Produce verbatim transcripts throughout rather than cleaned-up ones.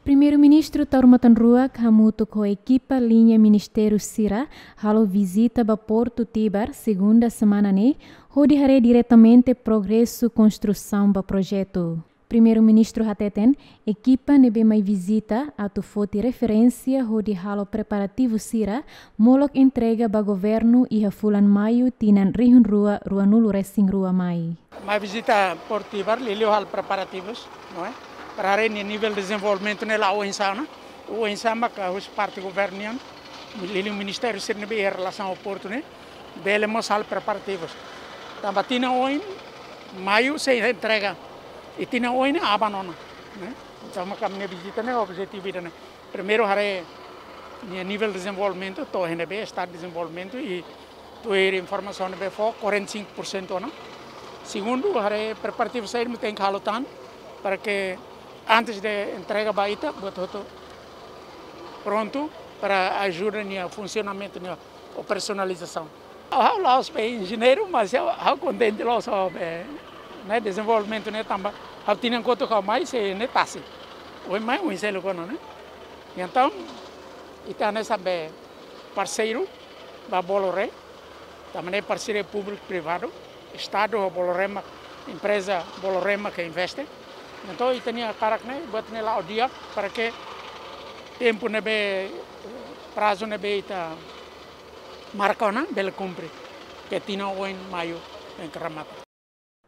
Primeiru-Ministru Taur Matan Ruak hamutuk ho ekipa liña ministériu sira halo vizita ba Portu Tibar, segunda semana ne'e, hodi haree diretamente progresu konstrusaun ba projetu. Primeiru-Ministru hateten, ekipa ne'ebé mai vizita atu foti referénsia hodi halo preparativu sira molok entrega ba governu iha fulan Maiu tinan rihun rua ruanulu resin rua mai. Mai vizita Portu Tibar, liuliu halo preparativus, não é? Para haree nivel dezenvolvimentu ne'e la'o oinsá ona, oinsá maka husi parte governu nian, liuliu ministériu sira ne'ebé iha relasaun ho portu ne'e, bele mós halo preparativus. Tanba tinan oin, Maiu sei entrega, i tinan oin ne'e aban ona, ne'e? Entaun maka ami-nia vizita ne'e objetivu ida-ne'e. Primeiru haree nivel dezenvolvimentu, to'o iha ne'ebé, estadu de dezenvolvimentu, i tuir informasaun ne'ebé fó, quarenta e cinco por cento ona. Segundu, haree preparativu saida mak tenke halo tan, para que antes de entrega ba ita, buat hotu prontu para ajuda nia funsionamentu, nia operasionalizasaun. Ha'u la'ós be enjeñeiru, mas ha'u, ha'u kontente loos ho be, ne'e, dezenvolvimentu ne'e tanba ha'u tinan kotuk ha'u mai sei ne'e tasi. Ohin mai, oin seluk ona, ne'e? Entaun, ita hanesan be parseiru ba Bolloré, tanba ne'e parseria públiku privadu, estadu ho Bolloré mak, empreza Bolloré mak ke investe. Entaun, ita-nia hakarak ne'e, buat ne'e la'o di'ak, para que tempu ne'ebé, prazu ne'ebé ita marka ona bele kumpre, ke tinan oin Maiu tenke remata.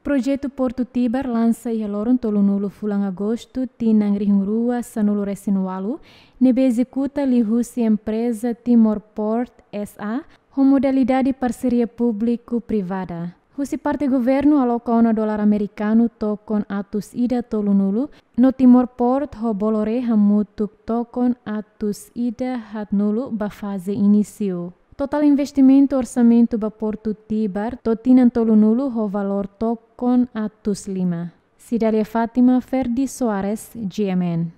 Projetu Portu Tibar lansa iha loron tolunulu fulan Agostu tinan rihun rua sanulu resin ualu, ne'ebé ezekuta liuhusi empreza Timor Port S A, ho modalidade parseria públiku privada. Husi parte governu aloka ona dolar amerikanu tokon atus ida tolunulu, no Timor Port ho Bolloré hamutuk tokon atus ida haatnulu ba faze inísiu. Totál investimentu orsamentu ba Portu Tibar to'o tinan tolunulu ho valór tokon atus lima. Cidália Fátima, Ferdi Soares, G M N.